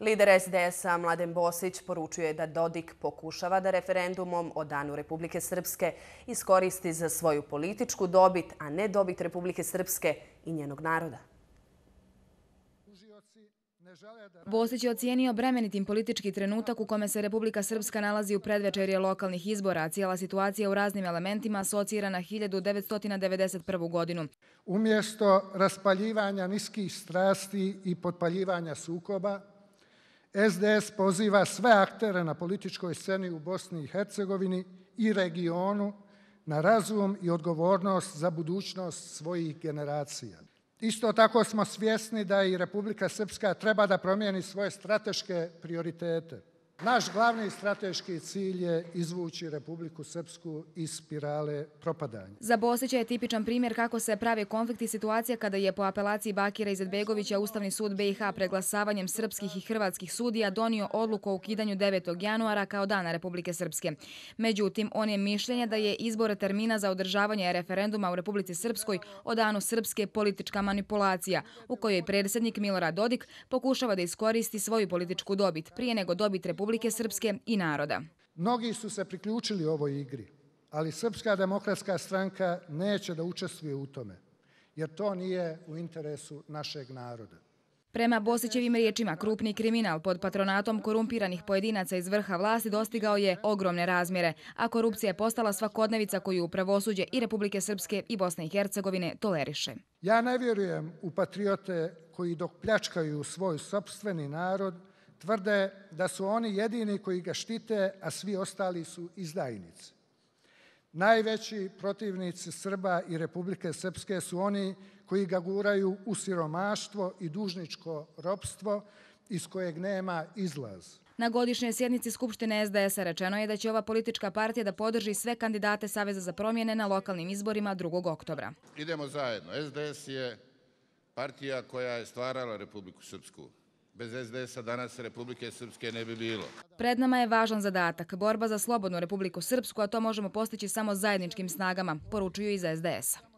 Lider SDS-a Mladen Bosić poručuje da Dodik pokušava da referendumom o Danu Republike Srpske iskoristi za svoju političku dobit, a ne dobit Republike Srpske i njenog naroda. Bosić je ocijenio bremenitim politički trenutak u kome se Republika Srpska nalazi u predvečerje lokalnih izbora, a cijela situacija u raznim elementima asocira na 1991. godinu. Umjesto raspaljivanja niskih strasti i potpaljivanja sukoba, SDS poziva sve aktere na političkoj sceni u Bosni i Hercegovini i regionu na razum i odgovornost za budućnost svojih generacija. Isto tako smo svjesni da i Republika Srpska treba da promijeni svoje strateške prioritete. Naš glavni strateški cilj je izvući Republiku Srpsku iz spirale propadanja. Za Bosića je tipičan primjer kako se prave konflikti situacija kada je po apelaciji Bakira Izetbegovića Ustavni sud BiH preglasavanjem srpskih i hrvatskih sudija donio odluku o ukidanju 9. januara kao Dana Republike Srpske. Međutim, on je mišljenja da je izbor termina za održavanje referenduma u Republici Srpskoj o Danu Srpske politička manipulacija, u kojoj predsjednik Milorad Dodik pokušava da iskoristi svoju političku dobit prije nego dobit Republike Srpske i naroda. Mnogi su se priključili ovoj igri, ali Srpska demokratska stranka neće da učestvuje u tome, jer to nije u interesu našeg naroda. Prema Bosićevim riječima, krupni kriminal pod patronatom korumpiranih pojedinaca iz vrha vlasti dostigao je ogromne razmjere, a korupcija je postala svakodnevica koju pravosuđe i Republike Srpske i Bosne i Hercegovine toleriše. Ja ne vjerujem u patriote koji dok pljačkaju svoj sopstveni narod tvrde da su oni jedini koji ga štite, a svi ostali su izdajnici. Najveći protivnici Srba i Republike Srpske su oni koji ga guraju u siromaštvo i dužničko ropstvo iz kojeg nema izlaz. Na godišnjoj sjednici Skupštine SDS-a rečeno je da će ova politička partija da podrži sve kandidate Saveza za promjene na lokalnim izborima 2. oktobra. Idemo zajedno. SDS je partija koja je stvarala Republiku Srpsku. Bez SDS-a danas Republike Srpske ne bi bilo. Pred nama je važan zadatak, borba za slobodnu Republiku Srpsku, a to možemo postići samo zajedničkim snagama, poručuju iz SDS-a.